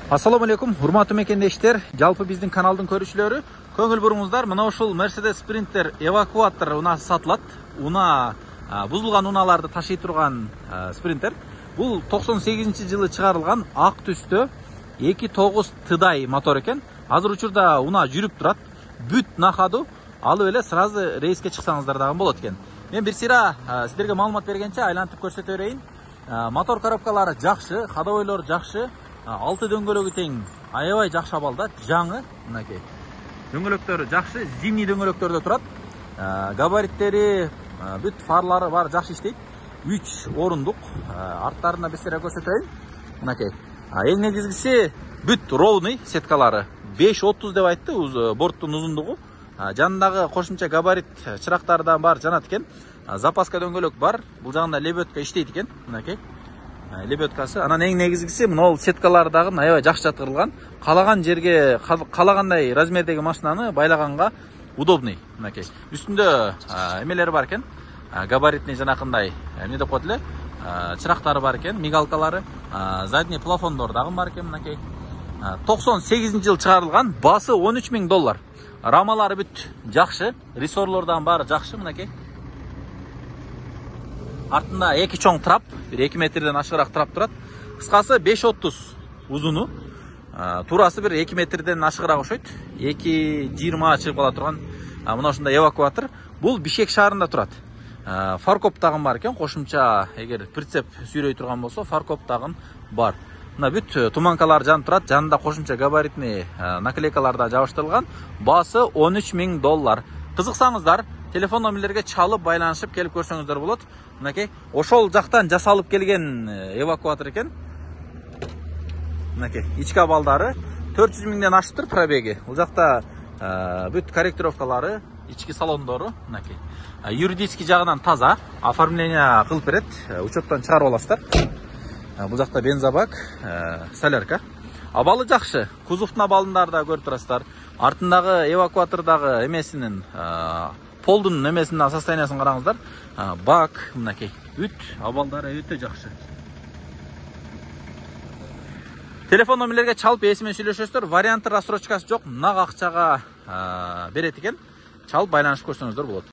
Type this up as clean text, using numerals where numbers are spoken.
Ассаламу алейкум, урматтуу мекендештер. Жалпы биздин каналдын көрүүчүлөрү, көңүл буруңуздар. Мына ушул Mercedes Sprinter эвакуатор унаа сатылат. Бузулган унааларды ташый турган Sprinter. Бул 98-жылы чыгарылган ак түстө 2.9 тыдай мотор экен. Азыр учурда унаа жүрүп турат. Бүт нахаду алып эле сразу рейске чыксаңыздар дагы болот экен. Мен бир сыйра сиздерге маалымат бергенче айлантып көрсөтө берейин. Мотор коробкалары жакшы, ходовойлор жакшы. 6 дөңгөлөгү тең, аябай жакшы абалда, жаңы, мынакей. Дөңгөлөктөрү жакшы, зимний дөңгөлөктөрдө турат. Габариттери, бүт фарлары бар, жакшы иштейт. 3 орундук, арттарына бир сыйра көрсөтөйүн. Мынакей. Эң негизгиси бүт ровный сеткалары. 5.30 деп айтты, борттун узундугу. Жанындагы кошумча габарит чырактары да бар, жанат экен. Запаска дөңгөлөк бар. Бул жагында лебедка иштейт экен, мынакей. Лебедкасы. Анан эң негизгиси мына сеткалар дагы аябай жакшы жаткырылган. Калаган жерге, калагандай размердеги машинаны байлаганга удобный, мынакей. Үстүндө эмелери бар экен. Габаритный жанакындай, эмне деп коет эле? Чырактары бар экен, мигалкалары, задний плафондор дагы бар экен, мынакей. 98-жылы чыгарылган, басы $13.000. Рамалары бүт жакшы, рессорлордон баары жакшы, мынакей. Артында 2 чоң трап, 2 метрден ашыгыраак трап турат. Кыскасы 5.30 узуну, турасы бир 2 метрден ашыгыраак окшойт. 2.20 чыгып кала турган мына ушундай эвакуатор. Бул Бишкек шаарында турат. Фаркоп тагын бар экен, кошумча эгер прицеп сүйрөй турган болсо, фаркоп тагын бар. Мына бүт туманкалар жанып турат, жанында кошумча габаритный наклейкалар да жабыштырылган. Басы $13.000. Кызыксаңыздар, телефон номерлерге чалып байланышып келип көрсөңүздөр болот. Мынакей, ошол жактан жасалып келген эвакуатор экен. Мынакей, ички абалдары 400.000ден ашыптыр пробеги. Бул жакта бүт корректировкалары, ички салондору, мынакей. Юридический жагынан таза, оформление кылып берет, учеттон чыгарып аласыздар. Бул жакта бензобак, солярка. Абалы жакшы, кузовтун абалындарды да көрүп турасыздар. Артындагы эвакуатордагы эмесинин полдун эмесинин состояниясын караңыздар. Бак, мынакей, бүт абалдары өтө жакшы. Телефон номерлерге чалып эсимен сүйлөшөсүздөр. Варианты рассрочкасы жок, нак акчага берет экен. Чалып байланышып көрсөңүздөр болот.